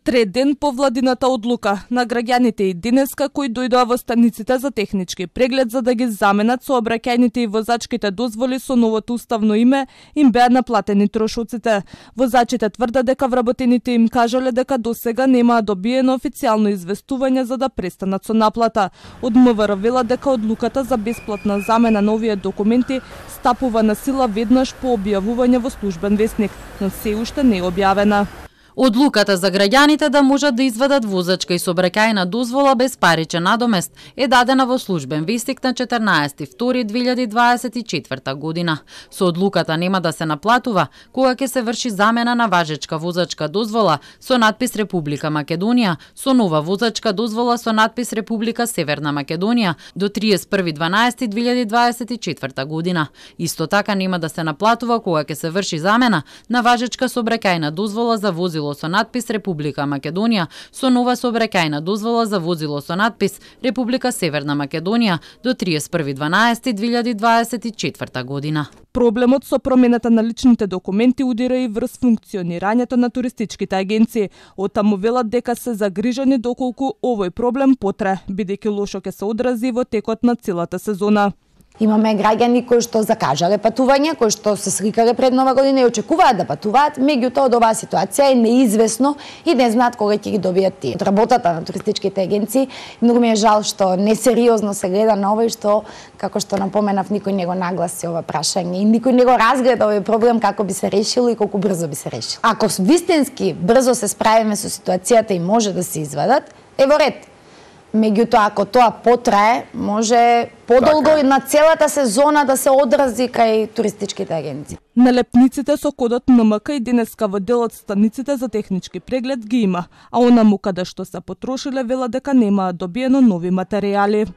Трет ден по владината одлука на граѓаните и денеска кои дојдоа во станиците за технички преглед за да ги заменат сообраќајните и возачките дозволи со новото уставно име, им беа наплатени трошоците. Возачите тврдат дека вработените им кажале дека досега немаа добиено официјално известување за да престанат со наплата. Од МВР велат дека одлуката за бесплатна замена на овие документи стапува на сила веднаш по објавување во службен весник, но се уште не е објавена. Одлуката за граѓаните да можат да извадат возачка и сообраќајна дозвола без паричен надомест е дадена во службен вестник на 14.2.2024 година. Со одлуката нема да се наплатува кога ќе се врши замена на важечка возачка дозвола со надпис Република Македонија со нова возачка дозвола со надпис Република Северна Македонија до 31.12.2024 година. Исто така нема да се наплатува кога ќе се врши замена на важечка сообраќајна дозвола за возило со надпис Република Македонија со нова сообраќајна дозвола за возило со надпис Република Северна Македонија до 31.12.2024 година. Проблемот со промената на личните документи удира и врз функционирањето на туристичките агенции. Оттаму велат дека се загрижени доколку овој проблем потрае, бидејќи лошо ќе се одрази во текот на целата сезона. Имаме граѓани кои што закажале патување, кои што се сликале пред Нова година и очекуваат да патуваат, меѓутоа од оваа ситуација е неизвестно и не знаат кога ќе ги добијат тие. Работата на туристичките агенции, многу ми е жал што несериозно се гледа на ова и што, како што напоменав, никој не го нагласи ова прашање и никој не го разгледа овој проблем како би се решило и колку брзо би се решило. Ако вистински брзо се справиме со ситуацијата и може да се извадат, е во ред. Меѓутоа, ако тоа потрае, може подолго на целата сезона да се одрази кај туристичките агенции. Налепниците со кодот НМК и денеска во дел од станиците за технички преглед ги има, а онаму каде што се потрошиле вела дека немаат добиено нови материјали.